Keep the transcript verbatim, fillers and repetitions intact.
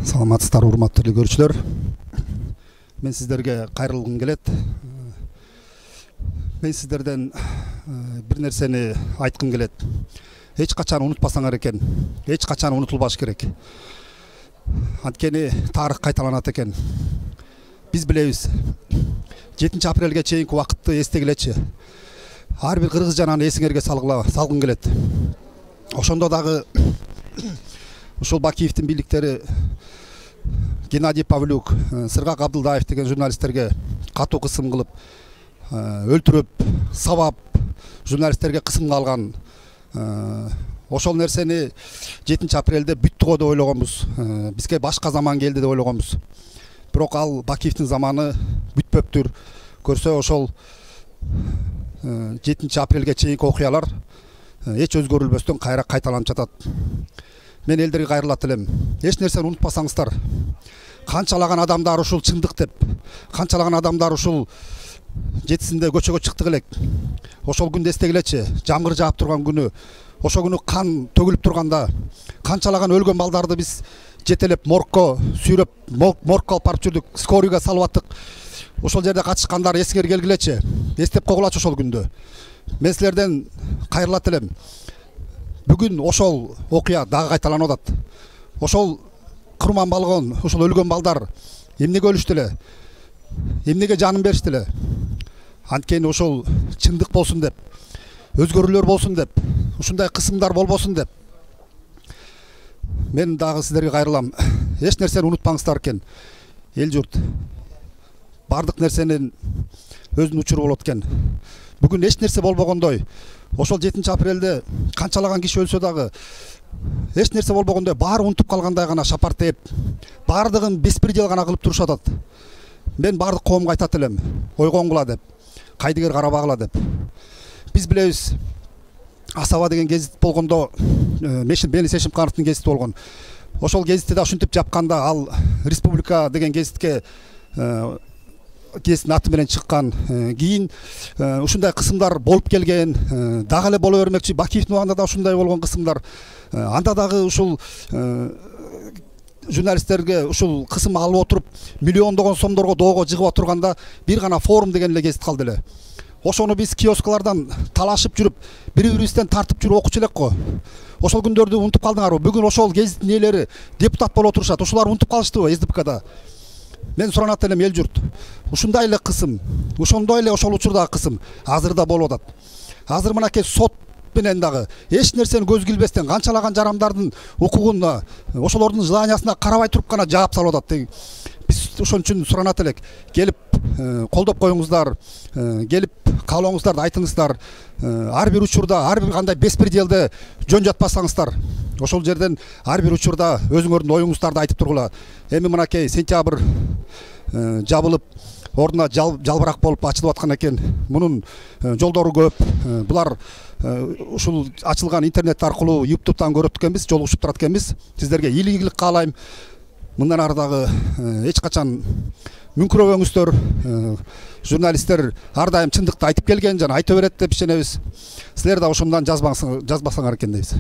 Саламатсыздар, урматтуу көрүүчүлөр. Мен сиздерге кайрылгым келет. Мен сиздерден бир нерсени айткым келет. Эч качан унутпасаңар экен. Эч качан унутулбаш керек. Анткени тарых кайталанат экен. Биз билебиз. жетинчи апрелге чейинки убакытты эстегилечи. Ар бир кыргыз жананы эсиңерге салгым келет. Ошондо дагы ушул Бакиевдин бийликтери Геннадий Павлюк, Сыргак Абдылдаев деген журналисттерге катуу кысым кылып, өлтүрүп, сабап, журналисттерге кысымга алган. Ошол нерсени жетинчи апрелде бүттүгө деп ойлогонбуз. Бизге башка заман келди деп ойлогонбуз. Бирок ал Бакиевдин заманы бүтпөптүр. Көрсө ошол жетинчи апрелге чейинки окуялар эч өзгөрүлбөстөн кайра кайталанып жатат. Мен элдерге кайрылат элем. Эч нерсени унутпасаңыздар. Канчалаган адамдар ушул чындык деп, канчалаган адамдар ушул жетисинде көчөгө чыктык элек. Ошол күндү эстегилечи. Жамгыр жаап турган күнү, ошол күнү кан төгүлүп турганда канчалаган өлгөн балдарды биз жетелеп моргко сүйрөп, моргко алып барып жүрдүк, скорыйга салып аттык. Ошол жерде катышкандар эсиңер келгилечи. Эстеп койгулачы ошол күндү. Мен силерден кайрылат элем. Бүгүн ошол окуя дагы кайталанып атат. Ошол курман болгон, ошол өлгөн балдар эмнеге өлүштү эле? Эмнеге жанын беришти эле? Анткени ошол чындык болсун деп, өзгөрүүлөр болсун деп, ушундай кысымдар болбосун деп. Мен дагы сиздерге кайрылам. Эч нерсени унутпаңыздар экен. Эл журт. Бардык нерсенин өзүнүн учуру болот экен. Бүгүн эч нерсе болбогондой, ошол жетинчи апрелде канчалаган киши өлсө дагы эч нерсе болбогондой, баары унутуп калгандай гана шапар тээп, баардыгын беспредел гана кылып турушат атат. Мен баардык коомго айтат элем, ойгоңгула деп, кайдыгер карабагыла деп. Биз билебиз, Асаба деген гезит болгондо, Мелис Эшимкановдун гезити болгон. Ошол гезитти да ушинтип жапканда ал Республика деген гезитке гезиттин аты менен чыккан. Кийин ушундай кысымдар болуп келген, дагы эле боло бермекчи. Бакиевдин убагында да ушундай болгон кысымдар. Анда дагы ушул журналисттерге ушул кысым алып отуруп, миллиондогон сомдорго доого жыгып отурганда бир гана Форум деген эле гезит калды эле. Ошону биз киоскалардан талашып жүрүп, бири-бирибизден тартып жүрүп окучу элек го. Ошол күндөрдү унутуп калдыңарбы? Бүгүн ошол гезиттин ээлери депутат болуп отурушат. Ошолар унутуп калыштыбы эс ди пэ када? Мен суранат элем, эл журт. Ушундай эле кысым, ошондой эле ошол учурдагы кысым азыр да болуп атат. Азыр мынакей сот менен дагы эч нерсени көзгө илбестен канчалаган жарандардын укугуна, ошолордун желаниясына карабай туруп гана жаап салып атат. Биз ошон үчүн суранат элек, келип колдоп коюңуздар, келип каалооңуздарды айтыңыздар. Ар бир учурда, ар бир кандай беспределде жөн жатпасаңыздар, ошол жерден ар бир учурда өзүңөрдүн оюңуздарды айтып тургула. Эми мынакей сентябрь жабылып, ордуна жалбырак болуп ачылып аткан экен. Мунун жолдору көп. Булар ушул ачылган интернет аркылуу ютубтан көрөт экенбиз, жолугушуп турат экенбиз. Сиздерге ийгилик каалайм. Мындан ары дагы эч качан мүңкүрөбөңүздөр. Журналисттер ар дайым чындыкты айтып келген жана айта берет деп ишенебиз. Силер да ошондон жазбасаңар экен дейбиз.